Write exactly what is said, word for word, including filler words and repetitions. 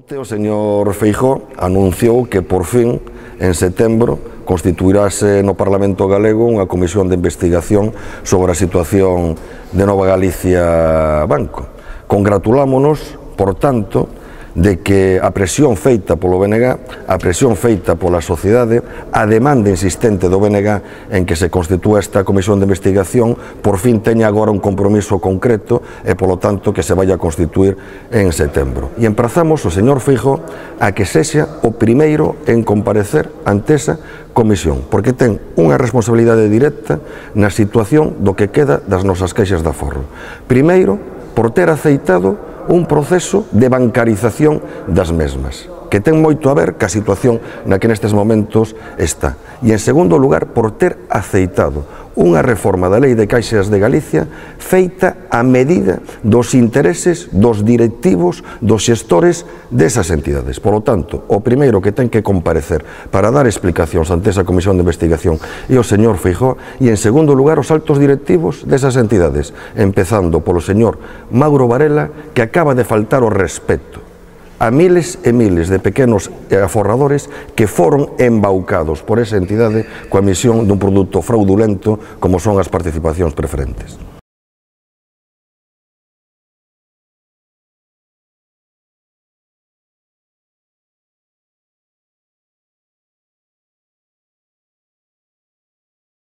O señor Feijóo anunciou que por fin, en setembro, constituirase no Parlamento galego unha comisión de investigación sobre a situación de Nova Galicia Banco. Congratulámonos, por tanto, de que a presión feita polo B N G, a presión feita pola sociedade, a demanda insistente do B N G en que se constitúa esta comisión de investigación, por fin teña agora un compromiso concreto e, polo tanto, que se vai a constituir en setembro. E emprazamos o señor Feijóo a que sexa o primeiro en comparecer ante esa comisión, porque ten unha responsabilidade directa na situación do que queda das nosas caixas de aforro. Primeiro, por ter aceitado un proceso de bancarización das mesmas, que ten moito a ver ca situación na que nestes momentos está. E, en segundo lugar, por ter aceitado unha reforma da Lei de Caixas de Galicia feita a medida dos intereses dos directivos, dos xestores desas entidades. Por lo tanto, o primeiro que ten que comparecer para dar explicacións ante esa comisión de investigación é o señor Feijóo, e, en segundo lugar, os altos directivos desas entidades, empezando polo señor Mauro Varela, que acaba de faltar o respeto a miles e miles de pequenos aforradores que foron embaucados por esa entidade coa emisión dun produto fraudulento como son as participacións preferentes.